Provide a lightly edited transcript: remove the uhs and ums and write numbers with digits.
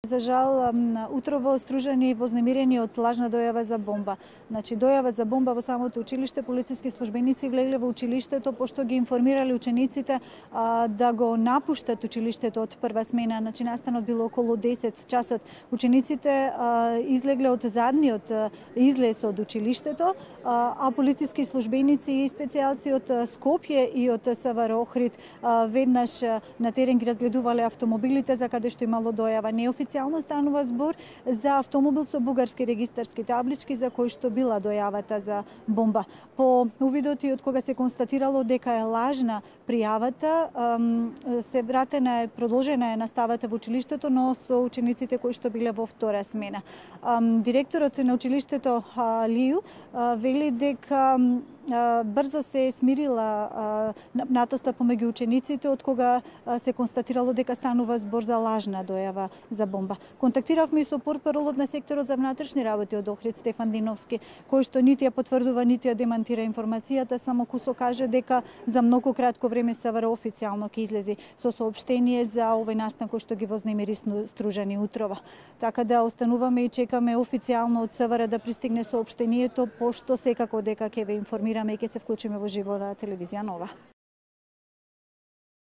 За жал, утрово стружени и вознемирени од лажна дојава за бомба. Значи, дојава за бомба во самото училиште, полициски службеници влегле во училиштето, пошто ги информирале учениците да го напуштат училиштето од прва смена. Значи, настанот било околу 10 часот. Учениците излегле од задниот излез од училиштето, а полициски службеници и специјалци од Скопје и од СВР Охрид веднаш на терен ги разгледувале автомобилите за каде што имало дојава. Неофицијално станува збор за автомобил со бугарски регистарски таблички за кој што била дојавата за бомба. По увидот и од кога се констатирало дека е лажна пријавата, се вратена е, продолжена е наставата во училиштето, но со учениците кои што биле во втора смена. Директорот на училиштето Лију вели дека брзо се смирила напнатоста помеѓу учениците од кога се констатирало дека станува збор за лажна дојава за бомба. Контактиравме и со портпаролот на секторот за внатрешни работи од Охрид Стефан Диновски, кој што нити ја потврдува, нити ја демантира информацијата, само кусо каже дека за многу кратко време СВР официјално ќе излези со соопштение за овој настан кој што ги вознемири стружени утрова. Така да остануваме и чекаме официјално од СВР да пристигне соопштението, пошто секако дека ќе ве информираме и ќе се вклучиме во живо на телевизија Нова.